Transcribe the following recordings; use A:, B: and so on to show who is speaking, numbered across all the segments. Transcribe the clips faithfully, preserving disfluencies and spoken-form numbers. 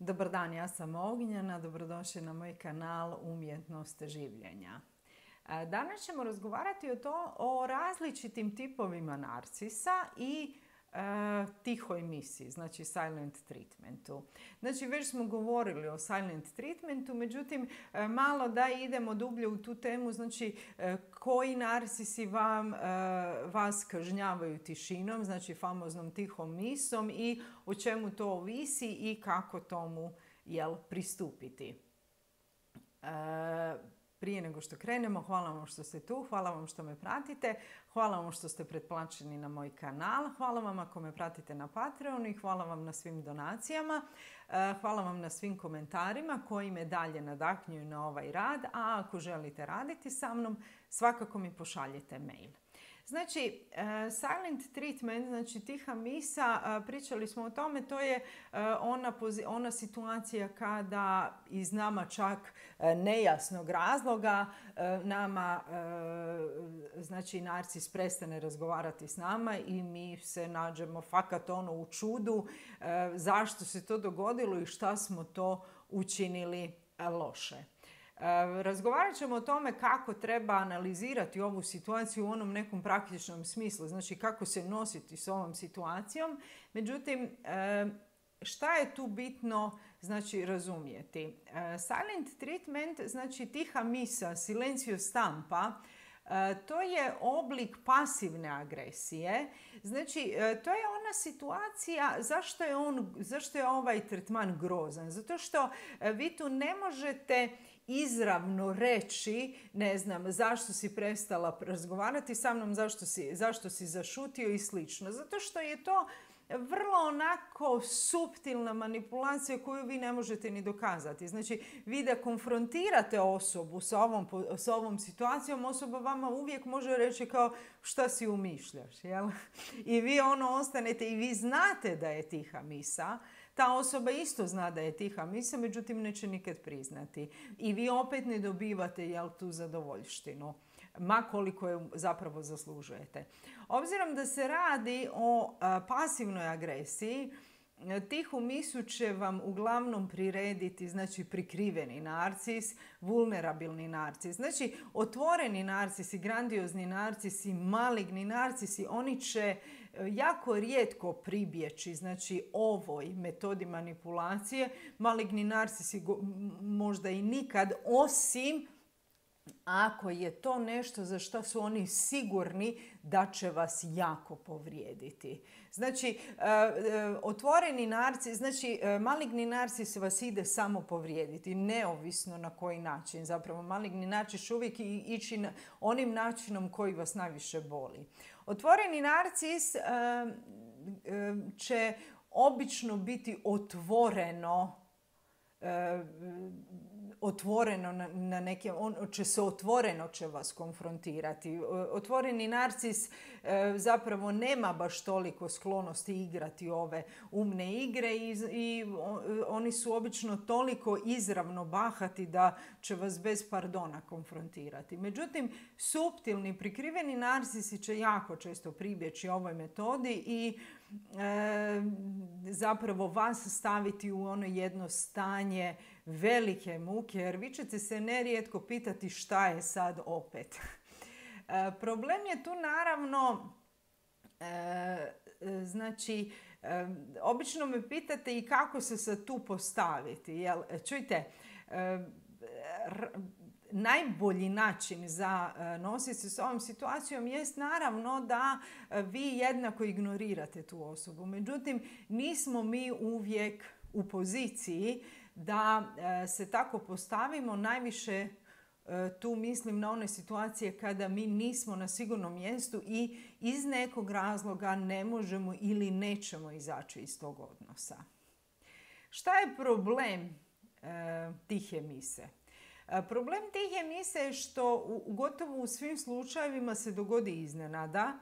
A: Dobar dan, ja sam Ognjena, dobrodošli na moj kanal Umjetnost življenja. Danas ćemo razgovarati o, to, o različitim tipovima narcisa i e, tihoj misiji, znači silent treatmentu. Znači već smo govorili o silent treatmentu, međutim e, malo da idemo dublje u tu temu, znači e, koji narcisi vam, e, vas kažnjavaju tišinom, znači famoznom tihom misom i o čemu to ovisi i kako tomu jel, pristupiti. E, Prije nego što krenemo, hvala vam što ste tu, hvala vam što me pratite, hvala vam što ste pretplaćeni na moj kanal, hvala vam ako me pratite na Patreonu i hvala vam na svim donacijama, hvala vam na svim komentarima koji me dalje nadahnjuju na ovaj rad, a ako želite raditi sa mnom, svakako mi pošaljite mail. Znači, silent treatment, znači tiha misa, pričali smo o tome, to je ona, ona situacija kada iz nama čak nejasnog razloga nama, znači narcis prestane razgovarati s nama i mi se nađemo fakat ono u čudu zašto se to dogodilo i šta smo to učinili loše. Razgovarat ćemo o tome kako treba analizirati ovu situaciju u onom nekom praktičnom smislu, znači kako se nositi s ovom situacijom. Međutim, šta je tu bitno znači, razumjeti? Silent treatment, znači tiha misa, silencio stampa, to je oblik pasivne agresije. Znači, to je ona situacija, zašto je, on, zašto je ovaj tretman grozan? Zato što vi tu ne možete izravno reći, ne znam, zašto si prestala razgovarati sa mnom, zašto si, zašto si zašutio i slično. Zato što je to vrlo onako suptilna manipulacija koju vi ne možete ni dokazati. Znači, vi da konfrontirate osobu sa ovom, sa ovom situacijom, osoba vama uvijek može reći kao šta si umišljaš, jel? I vi ono ostanete i vi znate da je tiha misa. Ta osoba isto zna da je tiha misa, međutim neće nikad priznati. I vi opet ne dobivate jel, tu zadovoljštinu, ma koliko je zapravo zaslužujete. Obzirom da se radi o a, pasivnoj agresiji, tihu misu će vam uglavnom prirediti, znači prikriveni narcis, vulnerabilni narcis. Znači otvoreni narcisi, grandiozni narcisi, maligni narcisi, oni će jako rijetko pribjeći, znači ovoj metodi manipulacije. Maligni narcisi možda i nikad, osim ako je to nešto za što su oni sigurni da će vas jako povrijediti. Znači, otvoreni narcis, znači maligni narcis vas ide samo povrijediti, neovisno na koji način. Zapravo, maligni narcis će uvijek ići onim načinom koji vas najviše boli. Otvoreni narcis će obično biti otvoreno otvoreno na, na neke, on će se otvoreno će vas konfrontirati. Otvoreni narcis e, zapravo nema baš toliko sklonosti igrati ove umne igre i, i o, oni su obično toliko izravno bahati da će vas bez pardona konfrontirati. Međutim, suptilni, prikriveni narcisi će jako često pribjeći ovoj metodi i e, zapravo vas staviti u ono jedno stanje velike muke, jer vi ćete se nerijetko pitati šta je sad opet. E, problem je tu naravno, e, znači, e, obično me pitate i kako se sad tu postaviti. Jel, čujte, e, r, najbolji način za nositi se s ovom situacijom jest naravno da vi jednako ignorirate tu osobu. Međutim, nismo mi uvijek u poziciji da se tako postavimo. Najviše tu mislim na one situacije kada mi nismo na sigurnom mjestu i iz nekog razloga ne možemo ili nećemo izaći iz tog odnosa. Šta je problem e, tihe mise? Problem tihe mise je što u, gotovo u svim slučajevima se dogodi iznenada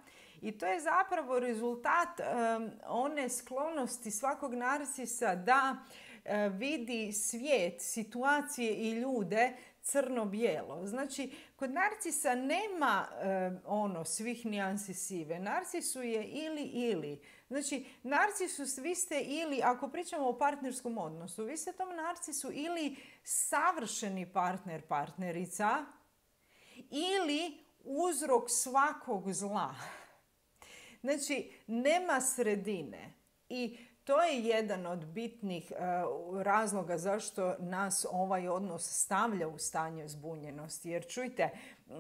A: i to je zapravo rezultat um, one sklonosti svakog narcisa da uh, vidi svijet, situacije i ljude crno-bijelo. Znači, kod narcisa nema um, ono svih nijansi sive. Narcisu je ili ili. Znači, narcisus, vi ste ili, ako pričamo o partnerskom odnosu, vi ste tom narcisu ili savršeni partner, partnerica, ili uzrok svakog zla. Znači, nema sredine. I to je jedan od bitnih uh, razloga zašto nas ovaj odnos stavlja u stanje zbunjenosti. Jer čujte, uh,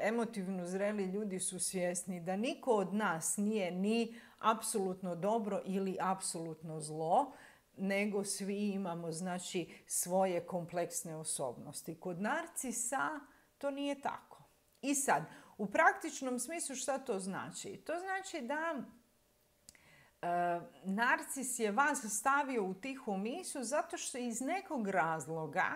A: emotivno zreli ljudi su svjesni da niko od nas nije ni apsolutno dobro ili apsolutno zlo, nego svi imamo, znači, svoje kompleksne osobnosti. Kod narcisa to nije tako. I sad, u praktičnom smislu šta to znači? To znači da e, narcis je vas stavio u tihu misu zato što iz nekog razloga,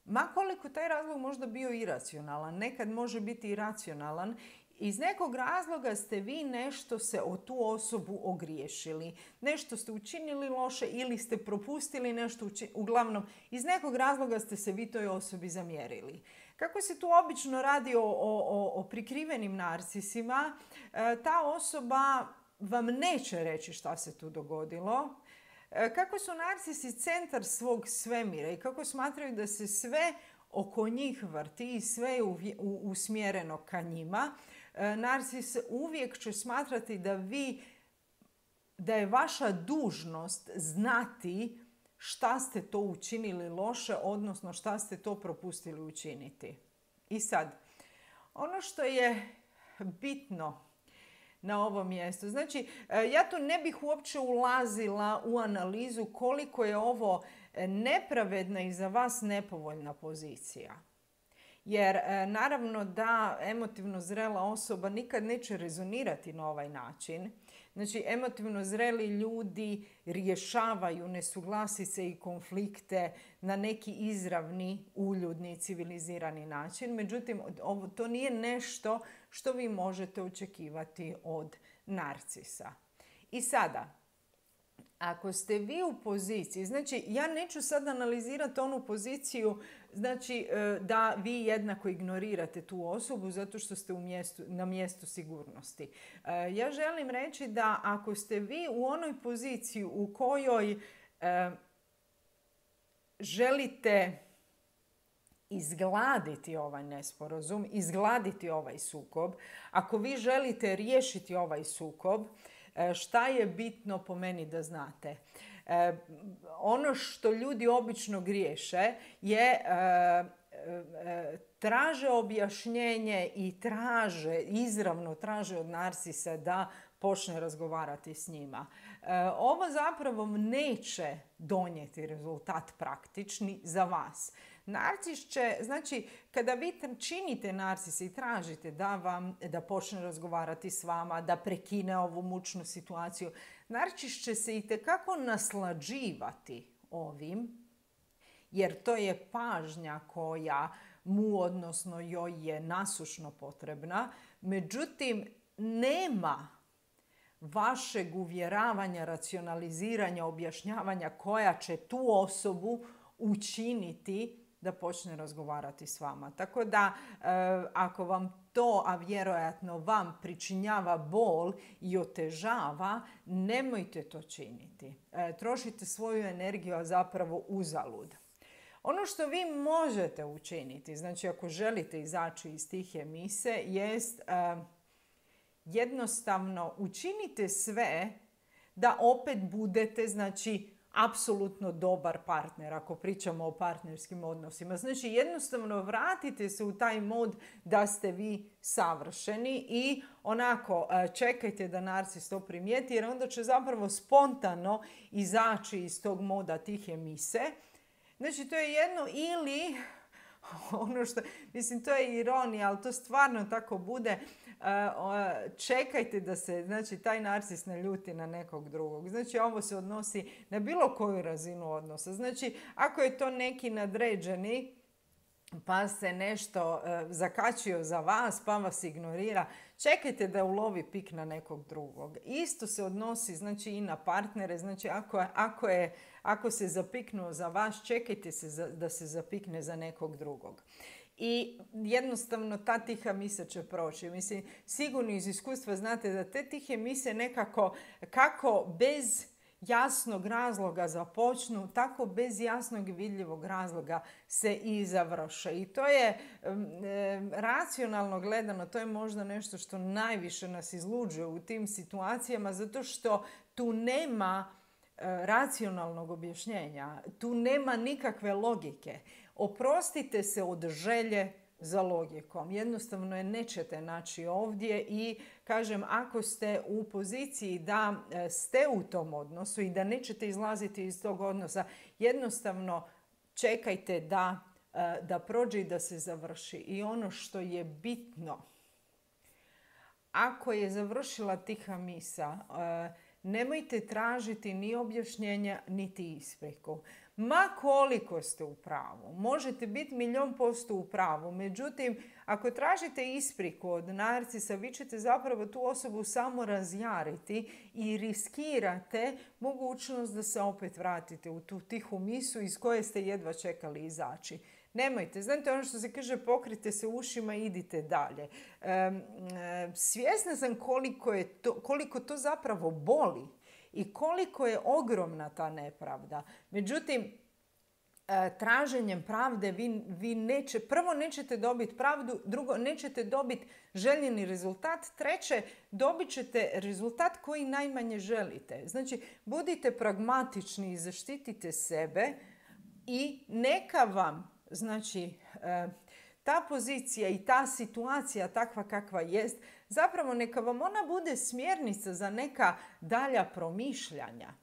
A: ma koliko taj razlog možda bio iracionalan, nekad može biti i racionalan, iz nekog razloga ste vi nešto se o tu osobu ogriješili. Nešto ste učinili loše ili ste propustili nešto učiniti. Uglavnom, iz nekog razloga ste se vi toj osobi zamjerili. Kako se tu obično radi o, o, o prikrivenim narcisima, ta osoba vam neće reći šta se tu dogodilo. Kako su narcisi centar svog svemira i kako smatraju da se sve oko njih vrti i sve je usmjereno ka njima, narcis uvijek će smatrati da vi, da je vaša dužnost znati šta ste to učinili loše, odnosno šta ste to propustili učiniti. I sad, ono što je bitno na ovom mjestu, znači ja tu ne bih uopće ulazila u analizu koliko je ovo nepravedna i za vas nepovoljna pozicija. Jer naravno da emotivno zrela osoba nikad neće rezonirati na ovaj način. Znači, emotivno zreli ljudi rješavaju nesuglasice i konflikte na neki izravni, uljudni, civilizirani način. Međutim, ovo, to nije nešto što vi možete očekivati od narcisa. I sada, ako ste vi u poziciji, znači ja neću sad analizirati onu poziciju, znači da vi jednako ignorirate tu osobu zato što ste u mjestu, na mjestu sigurnosti. Ja želim reći da ako ste vi u onoj poziciji u kojoj e, želite izgladiti ovaj nesporazum, izgladiti ovaj sukob, ako vi želite riješiti ovaj sukob, šta je bitno po meni da znate? E, ono što ljudi obično griješe je e, e, traže objašnjenje i traže, izravno traže od narcisa da počne razgovarati s njima. E, ovo zapravo neće donijeti rezultat praktični za vas. Narcis će, znači, kada vi činite narcisa i tražite da vam, da počne razgovarati s vama, da prekine ovu mučnu situaciju, narcis će se itekako naslađivati ovim, jer to je pažnja koja mu, odnosno joj je nasušno potrebna. Međutim, nema vašeg uvjeravanja, racionaliziranja, objašnjavanja koja će tu osobu učiniti da počne razgovarati s vama. Tako da, e, ako vam to, a vjerojatno vam pričinjava bol i otežava, nemojte to činiti. E, trošite svoju energiju, a zapravo uzalud. Ono što vi možete učiniti, znači ako želite izaći iz tihe mise, jest e, jednostavno učinite sve da opet budete, znači, apsolutno dobar partner, ako pričamo o partnerskim odnosima. Znači, jednostavno vratite se u taj mod da ste vi savršeni i onako čekajte da narcis to primijeti, jer onda će zapravo spontano izaći iz tog moda tihe mise. Znači, to je jedno ili, ono što, mislim, to je ironija, ali to stvarno tako bude, čekajte da se, znači, taj narcis ne ljuti na nekog drugog. Znači, ovo se odnosi na bilo koju razinu odnosa. Znači, ako je to neki nadređeni, pa se nešto e, zakačio za vas, pa vas ignorira, čekajte da ulovi pik na nekog drugog. Isto se odnosi, znači, i na partnere. Znači, ako, ako, je, ako se zapiknuo za vas, čekajte se za, da se zapikne za nekog drugog. i jednostavno ta tiha misa će proći. Mislim, sigurno iz iskustva znate da te tihe mise nekako, kako bez jasnog razloga započnu, tako bez jasnog i vidljivog razloga se i završe. I to je e, racionalno gledano, to je možda nešto što najviše nas izluđuje u tim situacijama, zato što tu nema e, racionalnog objašnjenja, tu nema nikakve logike. Oprostite se od želje za logikom. Jednostavno je nećete naći ovdje i kažem, ako ste u poziciji da ste u tom odnosu i da nećete izlaziti iz tog odnosa, jednostavno čekajte da, da prođe i da se završi. I ono što je bitno, ako je završila tiha misa, nemojte tražiti ni objašnjenja, niti ispriku. Ma koliko ste u pravu, možete biti milijon posto u pravu, međutim, ako tražite ispriku od narcisa, vi ćete zapravo tu osobu samo razjariti i riskirate mogućnost da se opet vratite u tu tihu misu iz koje ste jedva čekali izaći. Nemojte, znate ono što se kaže, pokrite se ušima i idite dalje. E, e, svjesna sam koliko, je to, koliko to zapravo boli i koliko je ogromna ta nepravda. Međutim, traženjem pravde vi, vi neće, prvo nećete dobiti pravdu, drugo nećete dobiti željeni rezultat, treće dobit ćete rezultat koji najmanje želite. Znači, budite pragmatični i zaštitite sebe i neka vam, znači, ta pozicija i ta situacija takva kakva jest, zapravo neka vam ona bude smjernica za neka dalja promišljanja.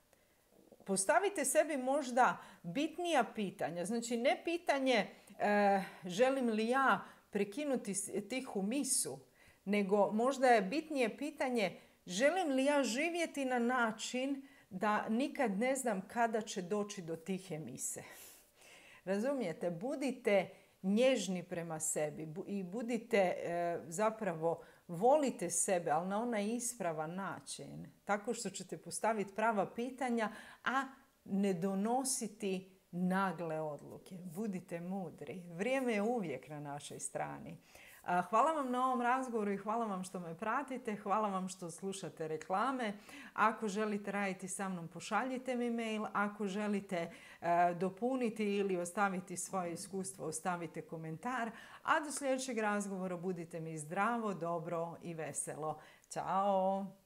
A: Postavite sebi možda bitnija pitanja. Znači, ne pitanje e, želim li ja prekinuti tihu misu, nego možda je bitnije pitanje želim li ja živjeti na način da nikad ne znam kada će doći do tihe mise. Razumijete? Budite nježni prema sebi i budite e, zapravo, volite sebe, ali na onaj ispravan način. Tako što ćete postaviti prava pitanja, a ne donositi nagle odluke. Budite mudri. Vrijeme je uvijek na našoj strani. Hvala vam na ovom razgovoru i hvala vam što me pratite. Hvala vam što slušate reklame. Ako želite raditi sa mnom, pošaljite mi mail. Ako želite dopuniti ili ostaviti svoje iskustvo, ostavite komentar. A do sljedećeg razgovora budite mi zdravo, dobro i veselo. Ćao!